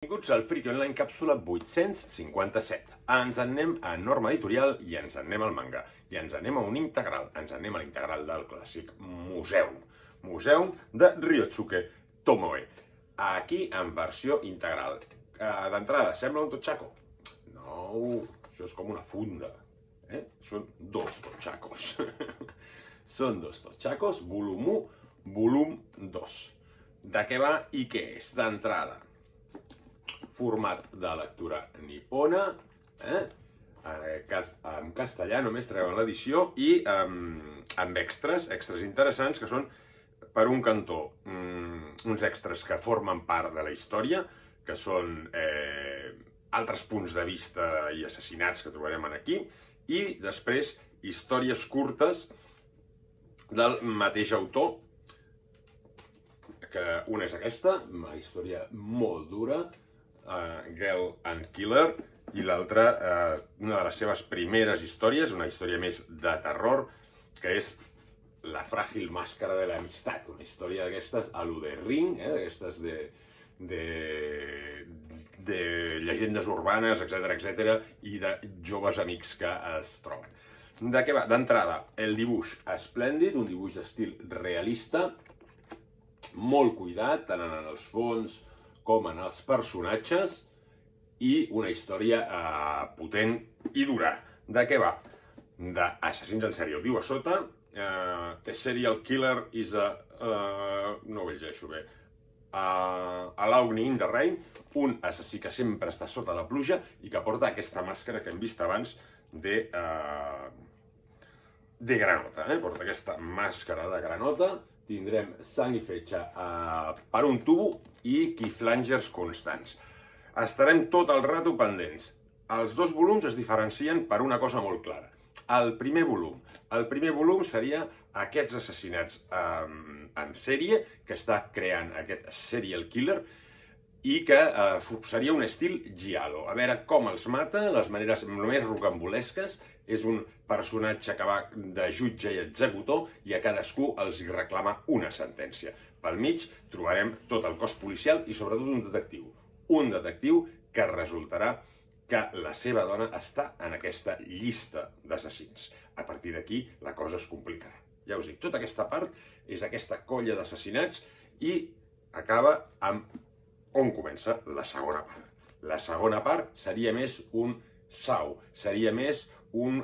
Benvinguts al Friki Online càpsula 857. Ens en anem a Norma Editorial i ens en anem al manga. I ens en anem a un integral. Ens en anem a l'integral del clàssic Museum. Museum de Ryosuke Tomoe. Aquí en versió integral. D'entrada, sembla un totxaco? No, això és com una funda. Són dos totxacos. Són dos totxacos, volum 1, volum 2. De què va i què és? D'entrada, format de lectura nipona, en aquest cas en castellà, només treuen l'edició, i amb extras interessants, que són, per un cantó, uns extras que formen part de la història, que són altres punts de vista i assassinats que trobarem aquí, i després històries curtes del mateix autor, que una és aquesta, una història molt dura, Girl and Killer, i l'altra, una de les seves primeres històries, una història més de terror, que és La fràgil màscara de l'amistat, una història d'aquestes a lo de Ring, d'aquestes de llegendes urbanes, etc., i de joves amics que es troben. De què va? D'entrada, el dibuix esplèndid, un dibuix d'estil realista, molt cuidat, tant en els fons com en els personatges, i una història potent i dura. De què va? D'assassins en sèrie. Ho diu a sota, The serial killer is a... no ho llegeixo bé. Alone in the rain, un assassí que sempre està sota la pluja i que porta aquesta màscara que hem vist abans de granota. Porta aquesta màscara de granota. Tindrem sang i fetge per un tubo i cliffhangers constants. Estarem tot el rato pendents. Els dos volums es diferencien per una cosa molt clara. El primer volum seria aquests assassinats en sèrie que està creant aquest serial killer i que seria un estil giallo. A veure com els mata, les maneres més rocambolesques. És un personatge que va de jutge i executor i a cadascú els reclama una sentència. Pel mig trobarem tot el cos policial i sobretot un detectiu. Un detectiu que resultarà que la seva dona està en aquesta llista d'assassins. A partir d'aquí la cosa es complicarà. Ja us dic, tota aquesta part és aquesta colla d'assassinats i acaba amb on comença la segona part. La segona part seria més un sau, seria més un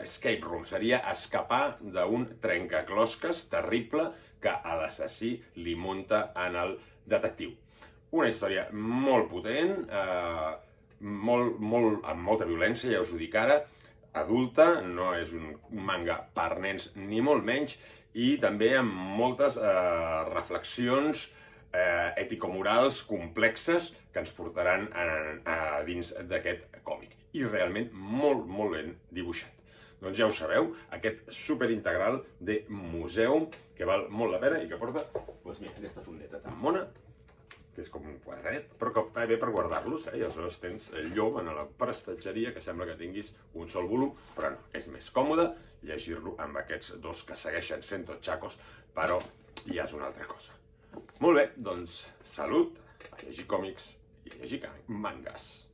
escape room, seria escapar d'un trencaclosques terrible que a l'assassí li munta en el detectiu. Una història molt potent, amb molta violència, ja us ho dic ara, adulta, no és un manga per nens ni molt menys, i també amb moltes reflexions ètico-morals complexes que ens portaran dins d'aquest còmic. I realment molt, molt ben dibuixat. Doncs ja ho sabeu, aquest superintegral de Museum, que val molt la pena i que porta, doncs mira, aquesta fundeta tan mona, que és com un quadradet, però que va bé per guardar-los, i aleshores tens llom en la prestatgeria, que sembla que tinguis un sol volum, però no, és més còmode llegir-lo amb aquests dos que segueixen sent totxacos, però ja és una altra cosa. Molt bé, doncs salut, a llegir còmics i a llegir mangas.